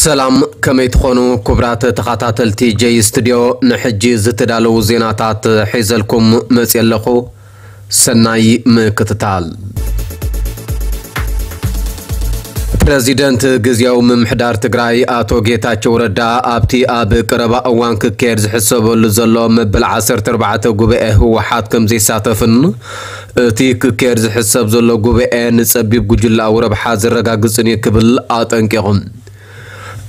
ሰላም፣ ከመይ ትኾኑ ክቡራት ተኸታተልቲ ጀይ ስቱዲዮ? ንሕጂ ዝተዳለዉ ዜናታት ሒዘልኩም መፅየ ኣለኹ። ሰናይ ምክትታል። ፕረዚደንት ግዝያዊ ምምሕዳር ትግራይ ኣቶ ጌታቸው ረዳ ኣብቲ ኣብ ቀረባ እዋን ክካየድ ዝሕሰበሉ ዘሎ መበል ዓሰርተ ኣርባዕተ ጉባኤ ህወሓት ከም ዘይሳተፍን እቲ ክካየድ ዝሕሰብ ዘሎ ጉባኤ ንጸቢብ ጉጅለኣዊ ረብሓ ዘረጋግጽን እዩ ክብል ኣጠንቂቑ።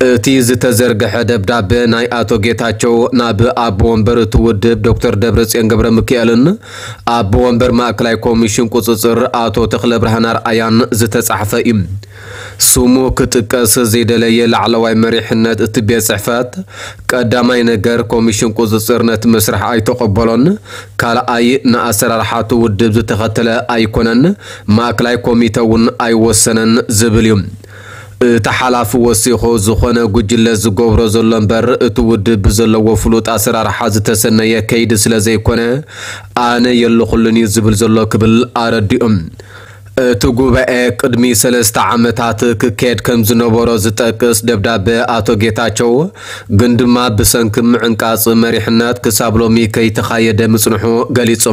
እቲ ዝተዘርግሐ ደብዳበ ናይ ኣቶ ጌታቸው ናብ ኣቦ ወንበር እቲ ውድብ ዶክተር ደብረጽዮን ገብረ ሚካኤልን ኣቦ ወንበር ማእከላይ ኮሚሽን ቁጽጽር ኣቶ ተኽለ ብርሃን ኣርኣያን ዝተጻሕፈ እዩ። ስሙ ክጥቀስ ዘይደለየ ላዕለዋይ መሪሕነት እቲ ቤት ጽሕፈት፣ ቀዳማይ ነገር ኮሚሽን ቁጽጽር ነቲ መስርሕ ኣይተቐበሎን፣ ካልኣይ ንኣሰራርሓ እቲ ውድብ ዝተኸተለ ኣይኮነን፣ ማእከላይ ኮሚተ እውን ኣይወሰነን ዝብል እዩ። እቲ ሓላፊ ወሲኹ፣ ዝኾነ ጉጅለ ዝገብሮ ዘሎ እምበር እቲ ውድብ ብዘለዎ ፍሉጥ ኣሰራርሓ ዝተሰነየ ከይዲ ስለ ዘይኮነ ኣነ የለኹሉን እዩ ዝብል ዘሎ ክብል ኣረዲኡ። እቲ ጉባኤ ቅድሚ ሰለስተ ዓመታት ክካየድ ከም ዝነበሮ ዝጠቅስ ደብዳበ ኣቶ ጌታቸው፣ ግን ድማ ብሰንኪ ምዕንቃጽ መሪሕነት ክሳብ ሎሚ ከይተኻየደ ምጽንሑ ገሊጹ።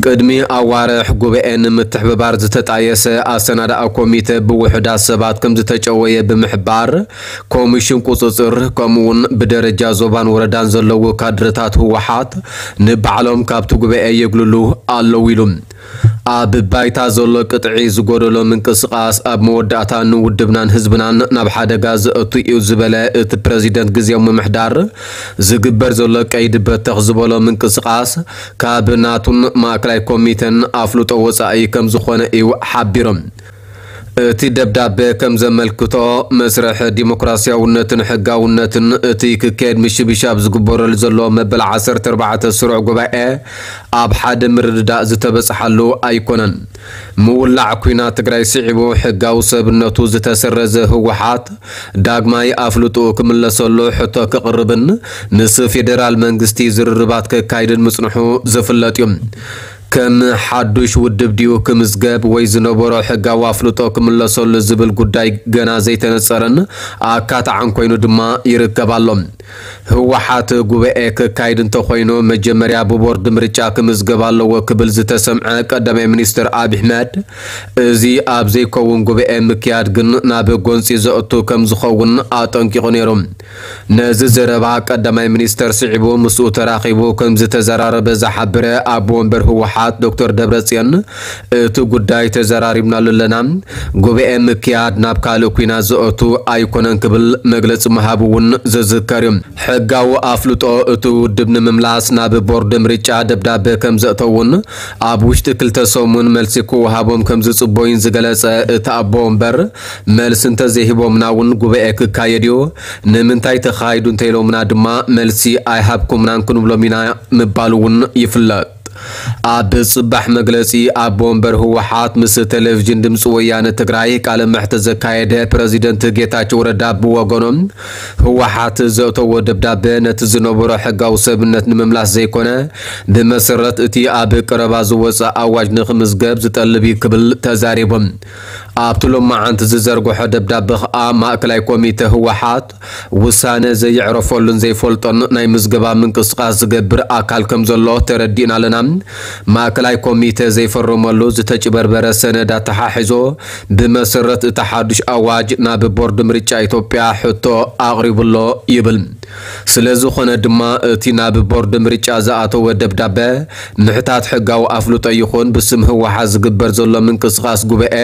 ቅድሚ ኣዋርሕ ጉባኤ ንምትሕብባር ዝተጣየሰ ኣሰናዳኢ ኮሚተ ብውሑዳት ሰባት ከም ዝተጨወየ ብምሕባር፣ ኮሚሽን ቁጽጽር ከምኡውን ብደረጃ ዞባን ወረዳን ዘለዉ ካድረታት ህወሓት ንባዕሎም ካብቲ ጉባኤ የግልሉ ኣለዉ ኢሉ። ኣብ ባይታ ዘሎ ቅጥዒ ዝጎደሎ ምንቅስቓስ ኣብ መወዳእታ ንውድብናን ህዝብናን ናብ ሓደጋ ዘእቱ እዩ ዝበለ እቲ ፕረዚደንት ግዝያዊ ምምሕዳር፣ ዝግበር ዘሎ ቀይዲ በተኽ ዝበሎ ምንቅስቓስ ካብ ናቱን ማእከላይ ኮሚተን ኣፍልጦ ወጻኢ ከም ዝኾነ እዩ ሓቢሮም። እቲ ደብዳበ ከም ዘመልክቶ፣ መስርሕ ዲሞክራሲያውነትን ሕጋውነትን እቲ ክካየድ ምሽብሻብ ዝግበረሉ ዘሎ መበል ዓሰርተ ኣርባዕተ ስሩዕ ጉባኤ ኣብ ሓደ ምርድዳእ ዝተበጽሓሉ ኣይኮነን። ምውላዕ ኲናት ትግራይ ስዒቡ ሕጋዊ ሰብነቱ ዝተሰረዘ ህወሓት ዳግማይ ኣፍልጦ ክምለሰሉ ሕቶ ክቕርብን ምስ ፌደራል መንግስቲ ዝርርባት ከካይድን ምጽንሑ ዝፍለጥ እዩ። ከም ሓዱሽ ውድብ ድዩ ክምዝገብ ወይ ዝነበሮ ሕጋዊ ኣፍልጦ ክምለሰሉ ዝብል ጉዳይ ገና ዘይተነጸረን ኣካታዕን ኮይኑ ድማ ይርከብ ኣሎ። ህወሓት ጉባኤ ከካይድ እንተኾይኑ መጀመርያ ብቦርድ ምርጫ ክምዝገብ ኣለዎ ክብል ዝተሰምዐ ቀዳማይ ሚኒስትር ኣብይ ኣሕመድ፣ እዚ ኣብ ዘይከውን ጉባኤ ምክያድ ግን ናብ ጎንፂ ዘእቱ ከም ዝኸውን ኣጠንቂቑ ነይሩ። ነዚ ዘረባ ቀዳማይ ሚኒስተር ስዒቡ ምስኡ ተራኺቡ ከም ዝተዘራረበ ዝሓበረ ኣቦ ወንበር ህወሓት ዶክተር ደብረጽዮን፣ እቲ ጉዳይ ተዘራሪብናሉ ኣለና፣ ጉባኤ ምክያድ ናብ ካልእ ኲናት ዘእቱ ኣይኮነን ክብል መግለጺ ምሃቡ እውን ዝዝከር እዩ። ሕጋዊ ኣፍልጦ እቲ ውድብ ንምምላስ ናብ ቦርድ ምርጫ ደብዳበ ከም ዘእተውን ኣብ ውሽጢ ክልተ ሰሙን መልሲ ክወሃቦም ከም ዝጽበዩን ዝገለጸ እቲ ኣቦ ወንበር፣ መልሲ እንተዘይሂቦምና እውን ጉባኤ ክካየድ እዩ፣ ንምንታይ ተኻይዱ እንተኢሎምና ድማ መልሲ ኣይሃብኩምናን ክንብሎም ኢና ምባሉ እውን ይፍለጥ። ኣብ ጽባሕ መግለጺ ኣቦ ወንበር ህወሓት ምስ ቴሌቪዥን ድምፂ ወያነ ትግራይ ቃለ መሕትት ዘካየደ ፕረዚደንት ጌታቸው ረዳ ብወገኖም፣ ህወሓት ዘእተዎ ደብዳበ ነቲ ዝነበሮ ሕጋዊ ሰብነት ንምምላስ ዘይኮነ፣ ብመሰረት እቲ ኣብ ቀረባ ዝወፀ ኣዋጅ ንክምዝገብ ዝጠልብ እዩ ክብል ተዛሪቦም። ኣብቲ ሎማዓንቲ ዝዘርግሖ ደብዳበ ከኣ ማእከላይ ኮሚተ ህወሓት ውሳነ ዘየዕረፈሉን ዘይፈልጦን ናይ ምዝገባ ምንቅስቃስ ዝገብር ኣካል ከም ዘሎ ተረዲእና ኣለና። ማእከላይ ኮሚተ ዘይፈረመሉ ዝተጭበርበረ ሰነድ ኣተሓሒዞ ብመሰረት እቲ ሓዱሽ ኣዋጅ ናብ ቦርድ ምርጫ ኢትዮጵያ ሕቶ ኣቕሪቡ ኣሎ ይብል። ስለ ዝኾነ ድማ እቲ ናብ ቦርድ ምርጫ ዝኣተወ ደብዳበ ምሕታት ሕጋዊ ኣፍልጦ ይኹን ብስም ህወሓት ዝግበር ዘሎ ምንቅስቃስ ጉባኤ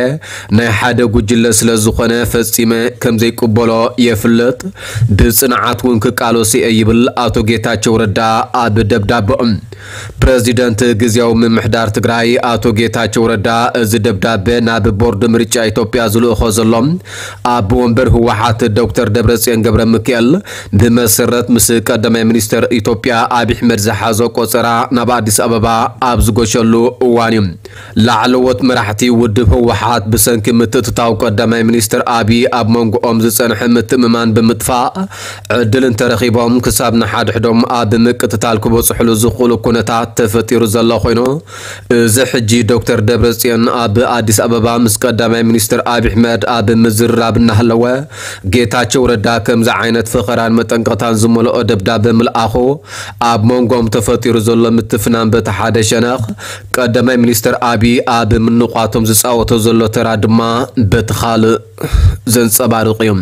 ናይ ሓደ ጉጅለ ስለ ዝኾነ ፈጺመ ከም ዘይቅበሎ የፍልጥ፣ ብጽንዓት እውን ክቃለሶ እየ ይብል ኣቶ ጌታቸው ረዳ ኣብ ደብዳበኦም። ፕረዚደንት ግዝያዊ ምምሕዳር ትግራይ ኣቶ ጌታቸው ረዳ እዚ ደብዳበ ናብ ቦርድ ምርጫ ኢትዮጵያ ዝልእኾ ዘሎ ኣቦ ወንበር ህወሓት ዶክተር ደብረጽዮን ገብረ ሚካኤል ብመሰረት ምስ ቀዳማይ ሚኒስተር ኢትዮጵያ ኣብይ ኣሕመድ ዝሓዞ ቆጸራ ናብ ኣዲስ ኣበባ ኣብ ዝጎሸሉ እዋን እዩ። ላዕለዎት መራሕቲ ውድብ ህወሓት ብሰንኪ ምትእትታው ቀዳማይ ሚኒስተር ኣብይ ኣብ መንጎኦም ዝጸንሐ ምትእምማን ብምጥፋእ ዕድል እንተረኺቦም ክሳብ ንሓድሕዶም ኣብ ምቅትታል ክበጽሑሉ ዝኽእሉ ነታት ተፈጢሩ ዘሎ ኮይኑ፣ እዚ ሕጂ ዶክተር ደብረጽዮን ኣብ ኣዲስ ኣበባ ምስ ቀዳማይ ሚኒስትር ኣብይ ኣሕመድ ኣብ ምዝርራብ እናሃለወ፣ ጌታቸው ረዳ ከምዚ ዓይነት ፈኸራን መጠንቀቕታን ዝመልኦ ደብዳበ ምልኣኹ፣ ኣብ መንጎም ተፈጢሩ ዘሎ ምትፍናን በቲ ሓደ ሸነኽ፣ ቀዳማይ ሚኒስትር ኣብይ ኣብ ምንቋቶም ዝጻወቶ ዘሎ ተራ ድማ በቲ ካልእ ዘንጸባርቕ እዩ።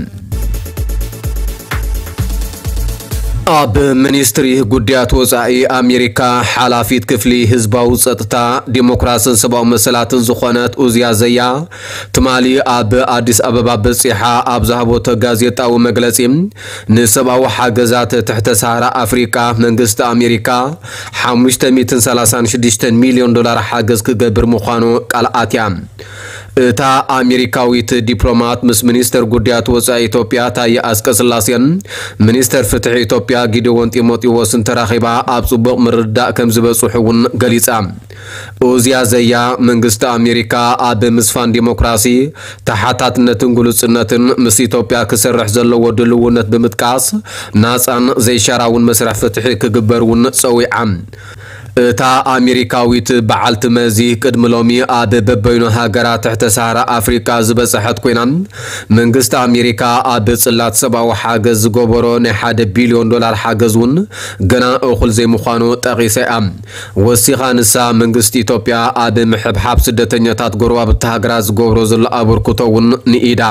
ኣብ ሚኒስትሪ ጉዳያት ወጻኢ ኣሜሪካ ሓላፊት ክፍሊ ህዝባዊ ጸጥታ፣ ዲሞክራስን ሰብኣዊ መሰላትን ዝኾነት ኡዝያ ዘያ፣ ትማሊ ኣብ ኣዲስ ኣበባ በጺሓ ኣብ ዝሃቦቶ ጋዜጣዊ መግለጺ፣ ንሰብኣዊ ሓገዛት ትሕተ ሰሃራ ኣፍሪቃ መንግስቲ ኣሜሪካ ሓሙሽተ ሚእትን ሰላሳን ሽዱሽተን ሚልዮን ዶላር ሓገዝ ክገብር ምዃኑ ቃል ኣትያ። እታ ኣሜሪካዊት ዲፕሎማት ምስ ሚኒስተር ጉዳያት ወጻኢ ኢትዮጵያ ታየ ኣጽቀስላሴን ሚኒስተር ፍትሒ ኢትዮጵያ ጊደዎን ጢሞቴዎስን ተራኺባ ኣብ ጽቡቕ ምርድዳእ ከም ዝበጽሑ እውን ገሊጻ። ኡዝያ ዘያ መንግስቲ ኣሜሪካ ኣብ ምስፋን ዲሞክራሲ፣ ተሓታትነትን ግሉጽነትን ምስ ኢትዮጵያ ክሰርሕ ዘለዎ ድልውነት ብምጥቃስ፣ ናጻን ዘይሻራውን መስርሕ ፍትሒ ክግበር እውን ጸዊዓ። እታ ኣሜሪካዊት በዓልቲ መዚ ቅድሚ ሎሚ ኣብ በበይኑ ሃገራት ትሕተ ሰሃራ ኣፍሪቃ ዝበጽሐት ኮይና፣ መንግስቲ ኣሜሪካ ኣብ ጽላት ሰብኣዊ ሓገዝ ዝገበሮ ናይ ሓደ ቢልዮን ዶላር ሓገዝ እውን ገና እኹል ዘይምዃኑ ጠቒሳ እያ። ወሲኻ ንሳ፣ መንግስቲ ኢትዮጵያ ኣብ ምሕብሓብ ስደተኛታት ጎረባብቲ ሃገራት ዝገብሮ ዘሎ ኣበርክቶ እውን ንኢዳ።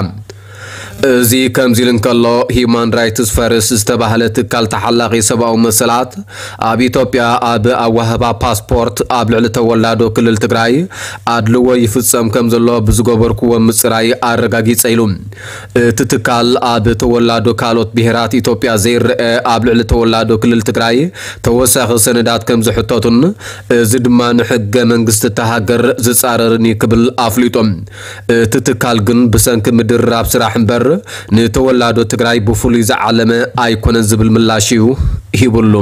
እዚ ከምዚ ኢሉ እንከሎ፣ ሂዩማን ራይትስ ፈርስት ዝተባህለ ትካል ተሓላቒ ሰብኣዊ መሰላት፣ ኣብ ኢትዮጵያ ኣብ ኣዋህባ ፓስፖርት ኣብ ልዕሊ ተወላዶ ክልል ትግራይ ኣድልዎ ይፍጸም ከም ዘሎ ብዝገበርክዎ ምጽራይ ኣረጋጊጸ ኢሉ። እቲ ትካል ኣብ ተወላዶ ካልኦት ብሄራት ኢትዮጵያ ዘይረአ ኣብ ልዕሊ ተወላዶ ክልል ትግራይ ተወሳኺ ሰነዳት ከም ዝሕተቱን እዚ ድማ ንሕገ መንግስቲ እታ ሃገር ዝጻረርን እዩ ክብል ኣፍሊጡ። እቲ ትካል ግን ብሰንኪ ምድርራብ ስራሕ እምበር ንተወላዶ ትግራይ ብፍሉይ ዝዓለመ ኣይኮነን ዝብል ምላሽ እዩ ሂብሉ።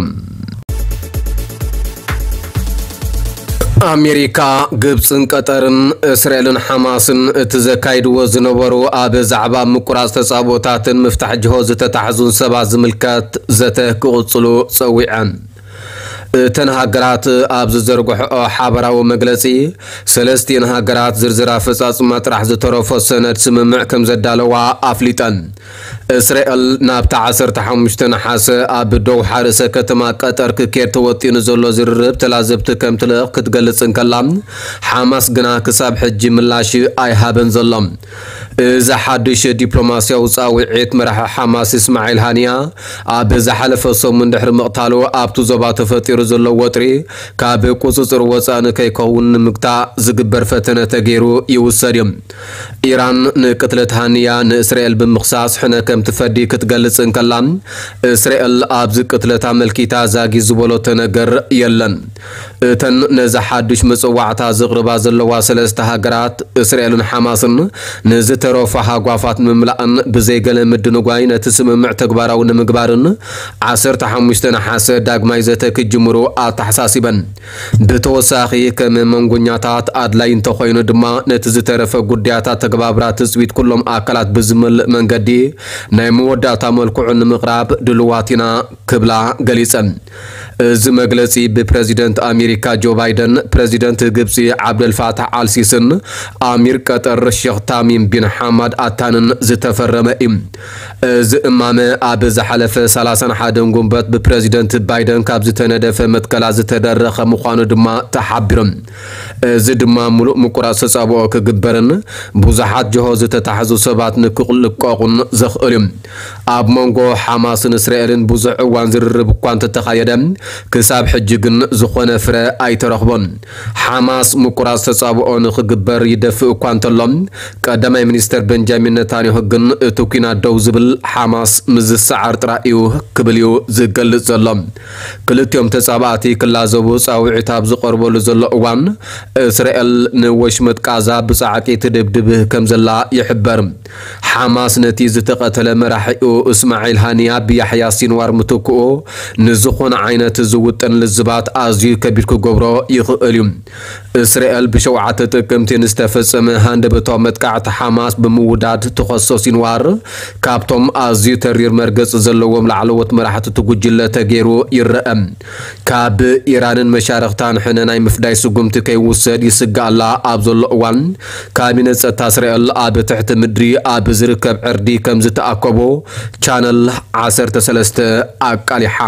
ኣሜሪካ፣ ግብፅን ቀጠርን እስራኤልን ሓማስን እቲ ዘካይድዎ ዝነበሩ ኣብ ዛዕባ ምቁራፅ ተፃብኦታትን ምፍታሕ ጅሆ ዝተታሕዙን ሰባት ዝምልከት ዘተ ክቕፅሉ ፀዊዐን። እተን ሃገራት ኣብ ዝዘርግሕኦ ሓበራዊ መግለፂ፣ ሰለስቲኤን ሃገራት ዝርዝር ኣፈፃፅማ ጥራሕ ዝተረፎ ሰነድ ስምምዕ ከም ዘዳለዋ ኣፍሊጠን። እስራኤል ናብቲ ዓሰርተ ሓሙሽተ ነሓሰ ኣብ ዶውሓ ርእሰ ከተማ ቀጠር ክኬድ ተወጢኑ ዘሎ ዝርርብ ተላዘብቲ ከም ትልእኽ ክትገልጽ እንከላ፣ ሓማስ ግና ክሳብ ሕጂ ምላሽ ኣይሃበን ዘሎ። እዚ ሓድሽ ዲፕሎማስያዊ ጻውዒት መራሒ ሓማስ እስማዒል ሃንያ ኣብ ዝሓለፈ ሰሙን ድሕሪ ምቕታሉ ኣብቲ ዞባ ተፈጢሩ ዘሎ ወጥሪ ካብ ቁጽጽር ወጻኢ ንከይከውን ንምግታእ ዝግበር ፈተነ ተገይሩ ይውሰድ እዩ። ኢራን ንቅትለት ሃንያ ንእስራኤል ብምኽሳስ ሕነ ከም ትፈዲ ክትገልጽ እንከላ፣ እስራኤል ኣብዚ ቅትለት ኣመልኪታ ዛጊ ዝበሎቶ ነገር የለን። እተን ነዚ ሓድሽ መጸዋዕታ ዘቕርባ ዘለዋ ሰለስተ ሃገራት፣ እስራኤልን ሓማስን፣ ንዝተረፉ ሃጓፋት ንምምላእን ብዘይ ገለ ምድንጓይ ነቲ ስምምዕ ተግባራዊ ንምግባርን ዓሰርተ ሓሙሽተ ነሓሰ ዳግማይ ዘተ ክጅምሩ ኣተሓሳሲበን። ብተወሳኺ፣ ከም መንጎኛታት ኣድላይ እንተኾይኑ ድማ፣ ነቲ ዝተረፈ ጉዳያት ኣተገባብራ ትጽቢት ኩሎም ኣካላት ብዝመልእ መንገዲ ናይ መወዳእታ መልክዑ ንምቕራብ ድልዋት ኢና ክብላ ገሊጸን። እዚ መግለጺ ብፕረዚደንት ኣሜሪካ ጆ ባይደን፣ ፕረዚደንት ግብጺ ዓብደልፋታሕ ኣልሲስን ኣሚር ቀጠር ሼኽ ታሚም ቢን ሓማድ ኣታንን ዝተፈረመ እዩ። እዚ እማመ ኣብ ዝሓለፈ ሰላሳን ሓደን ጉንበት ብፕረዚደንት ባይደን ካብ ዝተነደፈ መትከላ ዝተደረኸ ምዃኑ ድማ ተሓቢሩ። እዚ ድማ ምሉእ ምቁራጽ ተጻብኦ ክግበርን ብዙሓት ጅሆ ዝተታሕዙ ሰባት ንክልቀቑን ዘኽእል እዩ። ኣብ መንጎ ሓማስን እስራኤልን ብዙሕ እዋን ዝርርብ እኳ እንተተኻየደ፣ ክሳብ ሕጂ ግን ዝኾነ ፍረ ኣይተረኽቦን። ሓማስ ምቁራጽ ተጻብኦ ንኽግበር ይደፍእ እኳ እንተሎ፣ ቀዳማይ ሚኒስተር በንጃሚን ነታንያሁ ግን እቲ ኲናት ደው ዝብል ሓማስ ምስ ዝሰዓር ጥራይ እዩ ክብል እዩ ዝገልጽ ዘሎ። ክልቲኦም ተጻባእቲ ክላዘቡ ጻውዒት ኣብ ዝቐርበሉ ዘሎ እዋን፣ እስራኤል ንወሽመጥ ቃዛ ብጻዕቂ ትድብድብ ከም ዘላ ይሕበር። ሓማስ ነቲ ዝተቐተለ መራሒኡ እስማዒል ሃንያ ብያሕያ ሲንዋር ምትክኡ ንዝኾነ ዓይነት ዝውጥን ልዝባት ኣዝዩ ከቢድ ክገብሮ ይኽእል እዩ። እስራኤል ብሸውዓተ ጥቅምቲ ንዝተፈጸመ ሃንደበታዊ መጥቃዕቲ ሓማስ ብምውዳድ ትኸሶ ሲንዋር፣ ካብቶም ኣዝዩ ተሪር መርገጺ ዘለዎም ላዕለዎት መራሕቲ እቲ ጉጅለ ተገይሩ ይረአ። ካብ ኢራንን መሻርኽታን ሕነ ናይ ምፍዳይ ስጉምቲ ከይውሰድ ይስጋኣላ ኣብ ዘሎ እዋን፣ ካቢነ ጸጥታ እስራኤል ኣብ ትሕቲ ምድሪ ኣብ ዝርከብ ዕርዲ ከም ዝተኣከቦ ቻነል ዓሰርተ ሰለስተ ኣቃሊሓ።